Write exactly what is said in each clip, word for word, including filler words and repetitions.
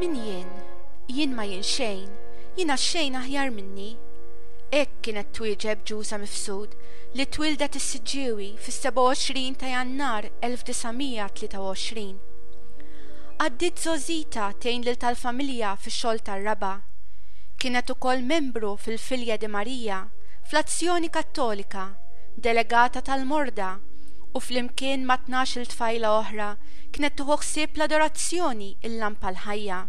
Min jien? Jien ma jien xejn, jiena xejn aħjar minni. Hekk kienet twieġeb Ġuża Mifsud li twildet is-Siġġiewi fis-sebgħa u għoxrin ta' Jannar elf disa' mija tlieta u għoxrin. Għaddiet żgħożita tgħin lil tal-familja fix-xogħol tar-raba'. Kienet ukoll membru fil-Filja di Marija, fl-Azzjoni Kattolika, delegata tal-Morda u flimkien ma' tnax-il tfajla oħra kienet tieħu ħsieb l-adorazzjoni il-lampa l-ħajja.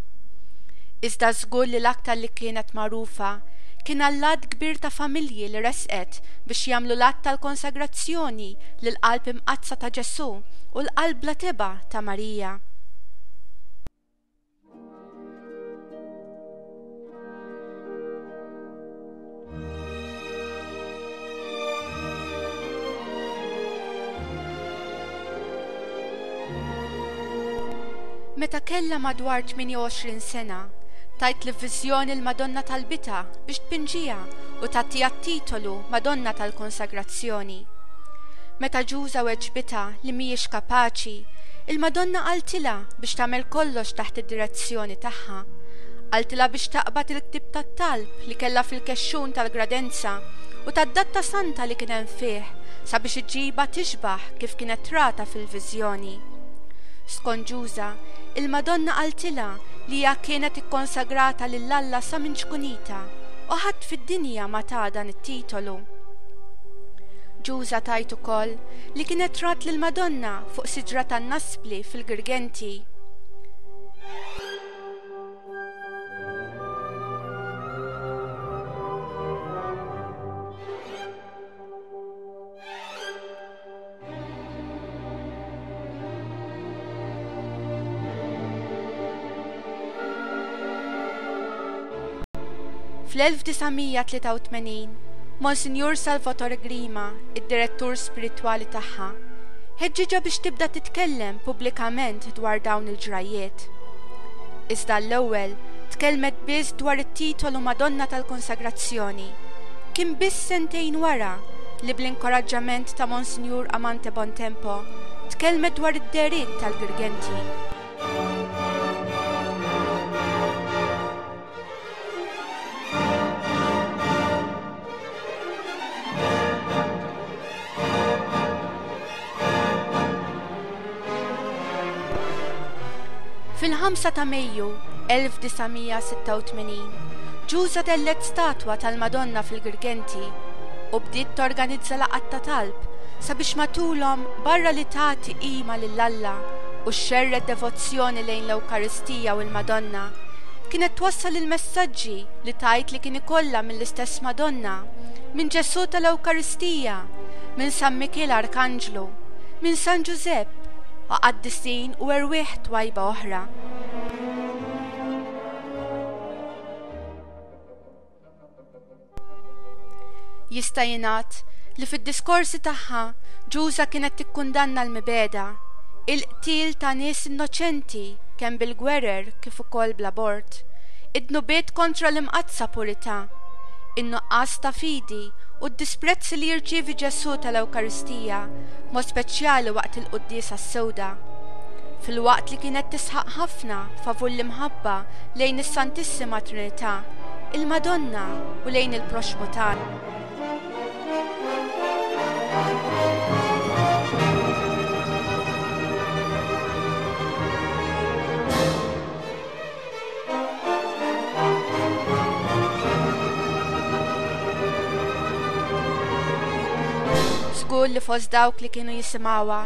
Iżda żgur li l-aktar li kienet magħrufa kien għall-għadd kbir ta' familji li resqet biex jagħmlu l-att tal-konsagrazzjoni lill-Qalb Imqaddsa ta' Ġesù u l-Qalb Bla Tebgħa ta' Marija. Meta kellha madwar tmienja u għoxrin sena, tajt li f'viżjoni l-Madonna talbitha biex tpinġiha u tagħtiha t-titolu Madonna tal-Konsagrazzjoni. Meta Ġuża weġbitha li mhijiex kapaċi, il-Madonna qaltilha biex tagħmel kollox taħt id-direzzjoni tagħha. Qaltilha biex taqbad il-ktieb tat-talb li kellha fil-kexxun tal-gradenza u tad-datta santa li kien hemm fih sabiex iġibha tixbaħ kif kienet rata fil-viżjoni. Skont Ġuża, il-Madonna qaltilha li hija kienet ikkonsagrata lil Alla sa minn ċkunita u ħadd fid-dinja ma ta dan it-titolu. Ġuża tajt ukoll li kienet rat lil Madonna fuq siġra tan-naspli fil-Girgenti. Fl-elf disa' mija tlieta u tmenin, Monsinjur Salvatore Grima, id-direttur spiritwali tagħha, ħeġġiġha biex tibda titkellem pubblikament dwar dawn il-ġrajjiet. Iżda l-ewwel tkellmet biss dwar it-titolu Madonna tal-Konsagrazzjoni. Kien biss sentejn wara li bl-inkoraġġament ta' Monsinjur Amante Bontempo tkellmet dwar id-dehriet tal-Girgenti. Fil-ħamsa ta' Mejju elf disa' mija sitta u tmenin, Ġuża tellet statwa tal-Madonna fil-Girgenti u bdiet torganizza laqgħat ta' talb sabiex matulhom barra li tagħti qima lil Alla u xxerred devozzjoni lejn l-Ewkaristija u l-Madonna, kienet twassal il-messaġġi li tajt li kien ikollha mill-istess Madonna, minn Ġesù tal-Ewkaristija, minn San Mikiel Arkanġlu, minn San Ġużepp u qaddisin u erwieħ twajba oħra. Jista' jingħad li fid-diskorsi tagħha Ġuża kienet tikkundanna l-mibegħda, il-qtil ta' nies innoċenti kemm bil-gwerer kif ukoll bl-abort, id-dnubiet kontra l-imqaddsa purità, in-nuqqas ta' fidi u d-disprezzi li jirċievi Ġesù tal-Ewkaristija, mod speċjali waqt il-quddiesa s-sewda. Filwaqt li kienet tisħaq ħafna favur l-imħabba lejn is-Santissima Trinità, il-Madonna u lejn il-proxxmu tagħna. Żgur li fost dawk li kienu jisimgħuha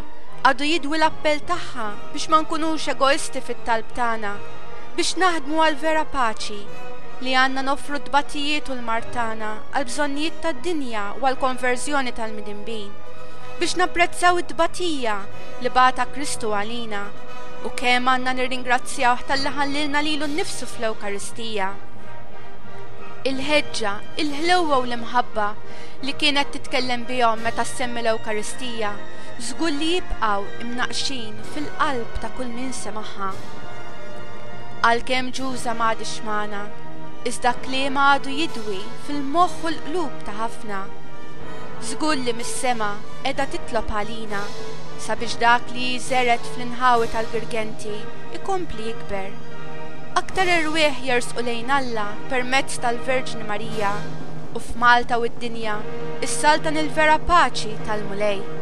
għadu jidwi l-appell tagħha biex ma nkunux egoisti fit-talb tagħna, biex naħdmu għal vera paċi, li għandna noffru t-tbatijiet u l-mard tagħna għal bżonnijiet tad-dinja u għal konverżjoni tal-midinbin, biex napprezzaw it-tbatija li bata Kristu għalina u kemm għandna nirringrazzjawh talli ħallilna lilu nnifsu fl-Ewkaristija. Il-ħeġġa, il-ħlewwa u l-imħabba li kienet titkellem bihom meta ssemmi l-Ewkaristija żgur li jibqgħu imnaqxin fil-qalb ta' kull min semagħha. Għalkemm Ġuża m'għadix magħna, iżda kliemha għadu jidwi fil-moħħ u l-qlub ta' ħafna. Żgur li mis-sema qiegħda titlob għalina sabiex dak li żeret fl-inħawi tal-Girgenti ikompli jikber. Aktar erwieħ jersqu lejn Alla permezz tal-Verġni Marija u f'Malta u d-dinja issaltan il-vera paċi tal-Mulej.